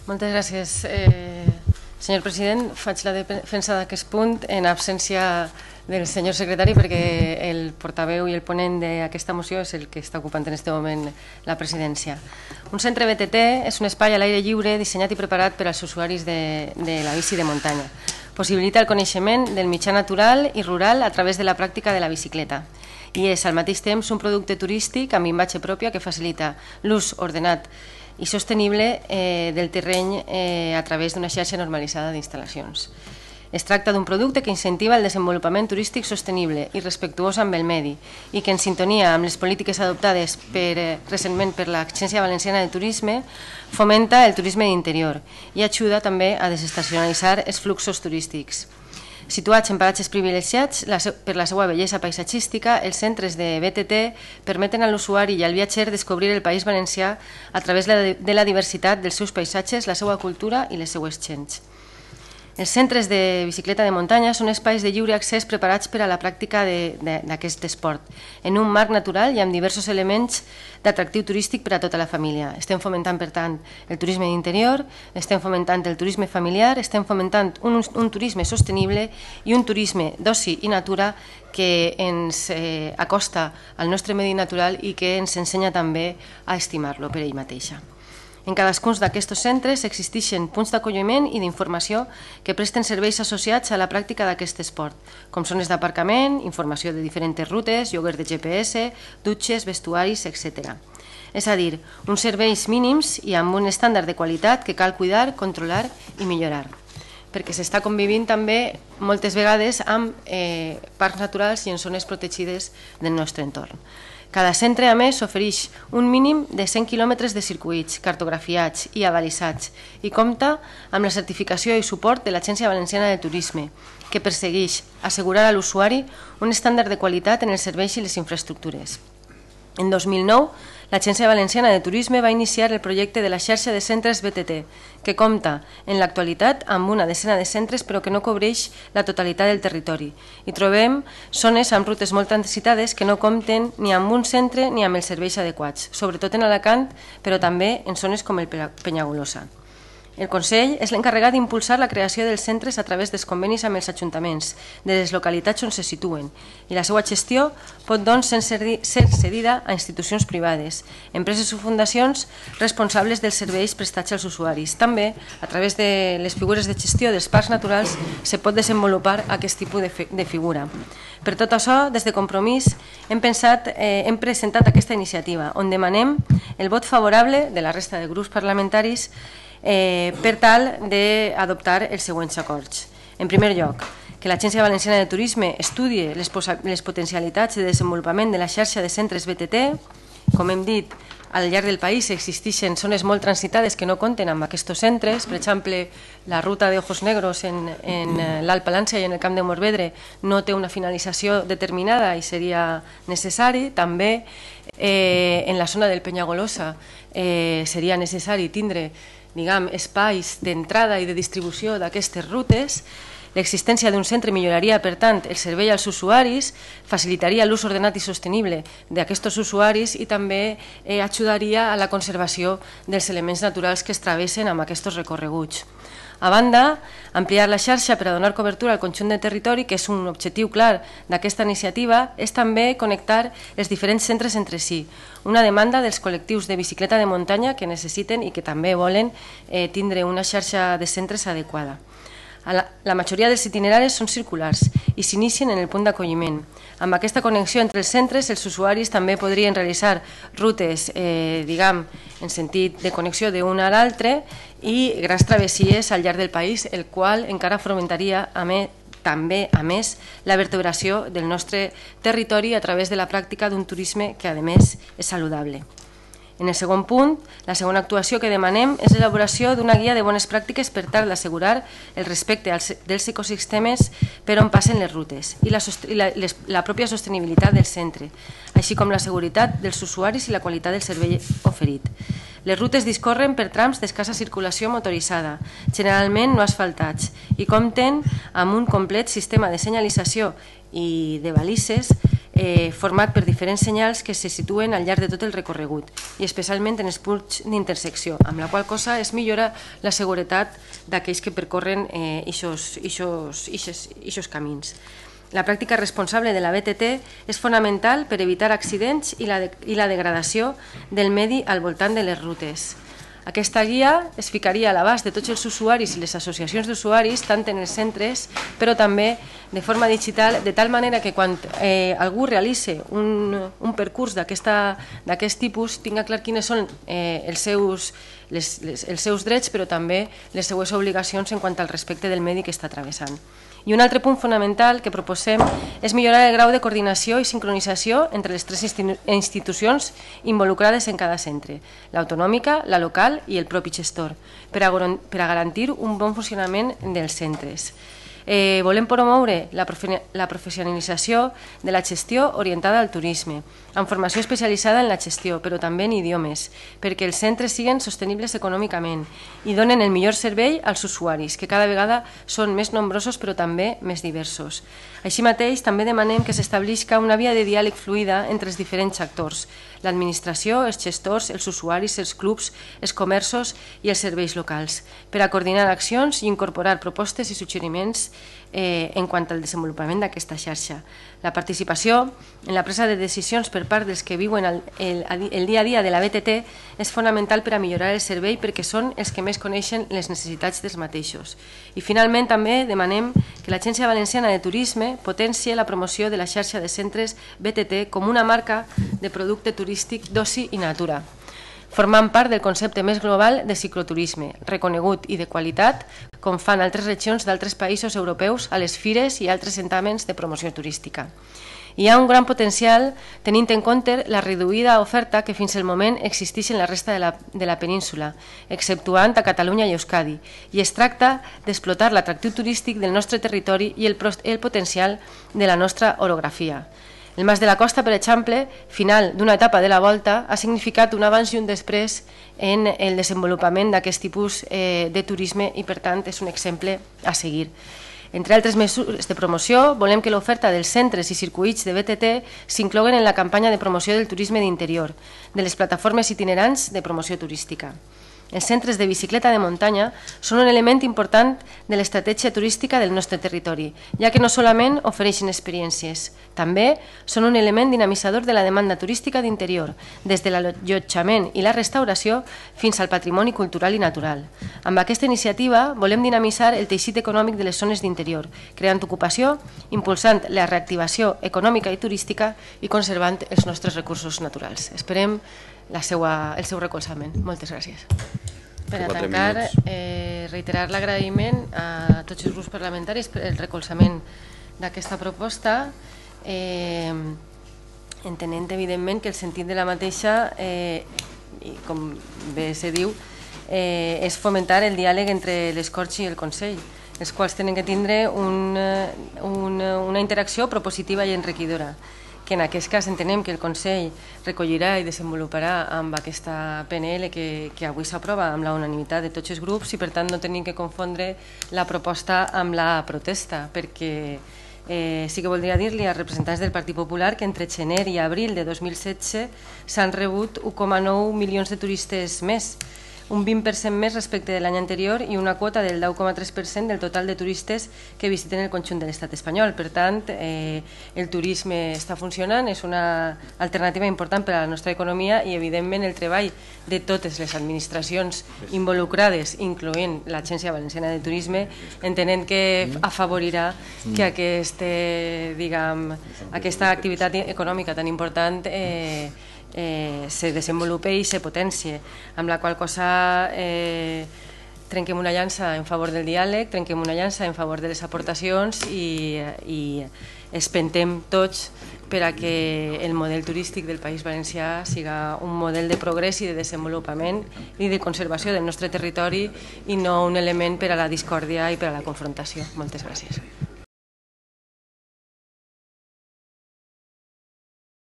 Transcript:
Moltes gràcies, senyor president. Faig la defensa d'aquest punt en absència del senyor secretari perquè el portaveu i el ponent d'aquesta moció és el que està ocupant en aquest moment la presidència. Un centre BTT és un espai a l'aire lliure dissenyat i preparat per als usuaris de la bici de muntanya. Possibilita el coneixement del mitjà natural i rural a través de la pràctica de la bicicleta i és al mateix temps un producte turístic amb imatge pròpia que facilita l'ús ordenat i sostenible del terreny a través d'una xarxa normalitzada d'instal·lacions. Es tracta d'un producte que incentiva el desenvolupament turístic sostenible i respectuós amb el medi i que, en sintonia amb les polítiques adoptades recentment per l'Agència Valenciana de Turisme, fomenta el turisme d'interior i ajuda també a desestacionalitzar els fluxos turístics. Situats en paratges privilegiats per la seva bellesa paisatgística, els centres de BTT permeten a l'usuari i al viatger descobrir el País Valencià a través de la diversitat dels seus paisatges, la seva cultura i les seues gents. Els centres de bicicleta de muntanya són espais de lliure accés preparats per a la pràctica d'aquest esport, en un marc natural i amb diversos elements d'atractiu turístic per a tota la família. Estem fomentant, per tant, el turisme d'interior, estem fomentant el turisme familiar, estem fomentant un turisme sostenible i un turisme d'oci i natura que ens acosta al nostre medi natural i que ens ensenya també a estimar-lo per ell mateixa. En cadascun d'aquests centres existeixen punts d'acolliment i d'informació que presten serveis associats a la pràctica d'aquest esport, com zones d'aparcament, informació de diferents rutes, lloguer de GPS, dutxes, vestuaris, etc. És a dir, uns serveis mínims i amb un estàndard de qualitat que cal cuidar, controlar i millorar, perquè s'està convivint també moltes vegades amb parcs naturals i en zones protegides del nostre entorn. Cada centre, a més, ofereix un mínim de 100 quilòmetres de circuits cartografiats i avalisats i compta amb la certificació i suport de l'Agència Valenciana de Turisme, que persegueix assegurar a l'usuari un estàndard de qualitat en els serveis i les infraestructures. En 2009, l'Agència Valenciana de Turisme va iniciar el projecte de la xarxa de centres BTT, que compta en l'actualitat amb una desena de centres però que no cobreix la totalitat del territori. I trobem zones amb rutes molt transitades que no compten ni amb un centre ni amb els serveis adequats, sobretot en Alacant, però també en zones com el Penyagolosa. El Consell és l'encarregat d'impulsar la creació dels centres a través dels convenis amb els ajuntaments de les localitats on se situen i la seva gestió pot, doncs, ser cedida a institucions privades, empreses o fundacions responsables dels serveis prestats als usuaris. També, a través de les figures de gestió dels parcs naturals, se pot desenvolupar aquest tipus de figura. Per tot això, des de Compromís, hem presentat aquesta iniciativa, on demanem el vot favorable de la resta de grups parlamentaris per tal d'adoptar els següents acords. En primer lloc, que l'Agència Valenciana de Turisme estudie les potencialitats de desenvolupament de la xarxa de centres BTT. Com hem dit, al llarg del país existeixen zones molt transitades que no compten amb aquests centres. Per exemple, la ruta d'Ojos Negros en l'Alt Palància i en el Camp de Morvedre no té una finalització determinada i seria necessari. També en la zona del Penyagolosa seria necessari tindre espais d'entrada i de distribució d'aquestes rutes. L'existència d'un centre milloraria, per tant, el servei als usuaris, facilitaria l'ús ordenat i sostenible d'aquests usuaris i també ajudaria a la conservació dels elements naturals que es travessen amb aquests recorreguts. A banda, ampliar la xarxa per a donar cobertura al conjunt de territori, que és un objectiu clar d'aquesta iniciativa, és també connectar els diferents centres entre si, una demanda dels col·lectius de bicicleta de muntanya que necessiten i que també volen tindre una xarxa de centres adequada. La majoria dels itineraris són circulars i s'inicien en el punt d'acolliment. Amb aquesta connexió entre els centres, els usuaris també podrien realitzar rutes, en sentit de connexió d'un a l'altre i grans travessies al llarg del país, el qual encara fomentaria també, a més, la vertebració del nostre territori a través de la pràctica d'un turisme que, a més, és saludable. En el segon punt, la segona actuació que demanem és l'elaboració d'una guia de bones pràctiques per tal d'assegurar el respecte dels ecosistemes per on passen les rutes i la pròpia sostenibilitat del centre, així com la seguretat dels usuaris i la qualitat del servei oferit. Les rutes discorren per trams d'escassa circulació motoritzada, generalment no asfaltats, i compten amb un complet sistema de senyalització i de balises format per diferents senyals que se situen al llarg de tot el recorregut i especialment en els punts d'intersecció, amb la qual cosa es millora la seguretat d'aquells que percorren aquests camins. La pràctica responsable de la BTT és fonamental per evitar accidents i la degradació del medi al voltant de les rutes. Aquesta guia es ficaria a l'abast de tots els usuaris i les associacions d'usuaris, tant en els centres, però també de forma digital, de tal manera que quan algú realitzi un percurs d'aquest tipus tinga clar quines són els seus drets, però també les seues obligacions en quant al respecte del medi que està travessant. I un altre punt fonamental que proposem és millorar el grau de coordinació i sincronització entre les tres institucions involucrades en cada centre, l'autonòmica, la local i el propi gestor, per a garantir un bon funcionament dels centres. Volem promoure la professionalització de la gestió orientada al turisme, amb formació especialitzada en la gestió, però també en idiomes, perquè els centres siguin sostenibles econòmicament i donen el millor servei als usuaris, que cada vegada són més nombrosos però també més diversos. Així mateix, també demanem que s'establisca una via de diàleg fluida entre els diferents actors, l'administració, els gestors, els usuaris, els clubs, els comerços i els serveis locals, per a coordinar accions i incorporar propostes i suggeriments en quant al desenvolupament d'aquesta xarxa. La participació en la presa de decisions per part dels que viuen el dia a dia de la BTT és fonamental per a millorar el servei perquè són els que més coneixen les necessitats dels mateixos. I finalment també demanem que l'Agència Valenciana de Turisme potencie la promoció de la xarxa de centres BTT com una marca de producte turístic d'oci i natura, formant part del concepte més global de cicloturisme, reconegut i de qualitat, com fan altres regions d'altres països europeus a les fires i altres certàmens de promoció turística. Hi ha un gran potencial tenint en compte la reduïda oferta que fins al moment existeix en la resta de la península, exceptuant a Catalunya i Euskadi, i es tracta d'explotar l'atractiu turístic del nostre territori i el potencial de la nostra orografia. El Mas de la Costa, per exemple, final d'una etapa de la volta, ha significat un abans i un després en el desenvolupament d'aquest tipus de turisme i, per tant, és un exemple a seguir. Entre altres mesures de promoció, volem que l'oferta dels centres i circuits de BTT s'incloguen en la campanya de promoció del turisme d'interior, de les plataformes itinerants de promoció turística. Els centres de bicicleta de muntanya són un element important de l'estratègia turística del nostre territori, ja que no solament ofereixen experiències, també són un element dinamitzador de la demanda turística d'interior, des de l'allotjament i la restauració fins al patrimoni cultural i natural. Amb aquesta iniciativa volem dinamitzar el teixit econòmic de les zones d'interior, creant ocupació, impulsant la reactivació econòmica i turística i conservant els nostres recursos naturals. Esperem el seu recolzament. Moltes gràcies. Per a tancar, reiterar l'agraïment a tots els grups parlamentaris per el recolzament d'aquesta proposta, entenent evidentment que el sentit de la mateixa, com bé se diu, és fomentar el diàleg entre les Corts i el Consell, els quals tenen que tindre una interacció propositiva i enriquidora, que en aquest cas entenem que el Consell recollirà i desenvoluparà amb aquesta PNL que avui s'aprova amb la unanimitat de tots els grups i per tant no tenim que confondre la proposta amb la protesta, perquè sí que voldria dir-li als representants del Partit Popular que entre gener i abril de 2016 s'han rebut 1,9 milions de turistes més, un 20% més respecte de l'any anterior i una quota del 10,3% del total de turistes que visiten el conjunt de l'estat espanyol. Per tant, el turisme està funcionant, és una alternativa important per a la nostra economia i, evidentment, el treball de totes les administracions involucrades, incloent l'Agència Valenciana de Turisme, entenent que afavorirà que aquesta activitat econòmica tan important se desenvolupe i se potencie, amb la qual cosa trenquem una llança en favor del diàleg, trenquem una llança en favor de les aportacions i espentem tots per a que el model turístic del País Valencià siga un model de progrés i de desenvolupament i de conservació del nostre territori i no un element per a la discòrdia i per a la confrontació. Moltes gràcies.